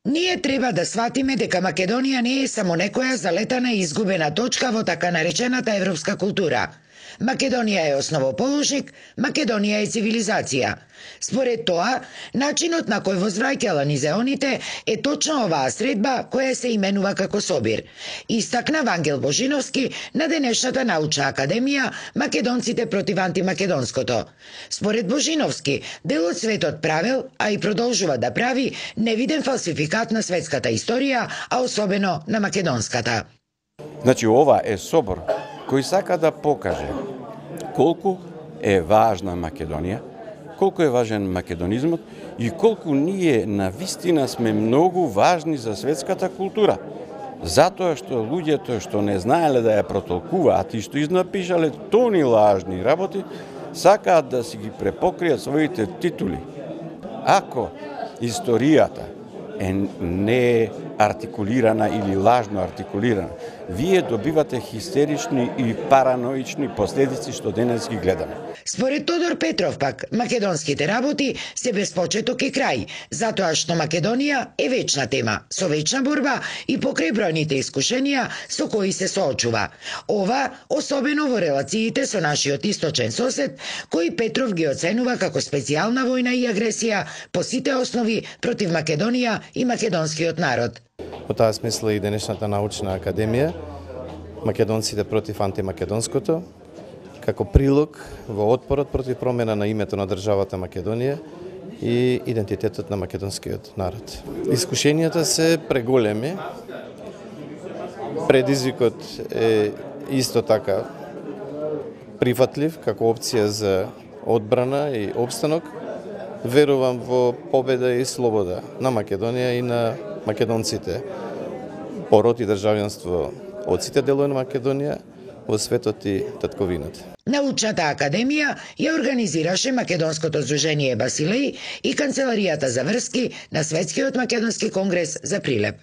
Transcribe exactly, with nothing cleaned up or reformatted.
Ние треба да сватиме дека Македонија не е само некоја залетана и изгубена точка во така наречената европска култура. Македонија е основоположник, Македонија е цивилизација. Според тоа, начинот на кој возвраќала низеоните е точно оваа средба која се именува како Собир. Истакна Вангел Божиновски на денешната научна академија Македонците против антимакедонското. Според Божиновски, делот светот правел, а и продолжува да прави, невиден фалсификат на светската историја, а особено на македонската. Значи, ова е собор кој сака да покаже колку е важна Македонија, колку е важен македонизмот и колку ние на вистина сме многу важни за светската култура. Затоа што луѓето што не знаеле да ја протолкуваат и што изнапишале тони лажни работи, сакаат да си ги препокријат своите титули. Ако историјата е не артикулирана или лажно артикулирана, вие добивате хистерични и параноични последици што денес ги гледаме. Според Тодор Петров пак, македонските работи се без почеток и крај, затоа што Македонија е вечна тема, со вечна борба и покрај бројните искушенија со кои се соочува. Ова, особено во релациите со нашиот источен сосед, кој Петров ги оценува како специјална војна и агресија по сите основи против Македонија и македонскиот народ. Во таа смисла и денешната научна академија, Македонците против антимакедонското, како прилог во отпорот против промена на името на државата Македонија и идентитетот на македонскиот народ. Искушенијата се преголеми, предизвикот е исто така прифатлив како опција за одбрана и обстанок. Верувам во победа и слобода на Македонија и на македонците, пород и државјанство од сите делови на Македонија, во светот и татковината. Научната академија ја организираше Македонското здружение Басилеј и Канцеларијата за врски на Светскиот македонски конгрес за Прилеп.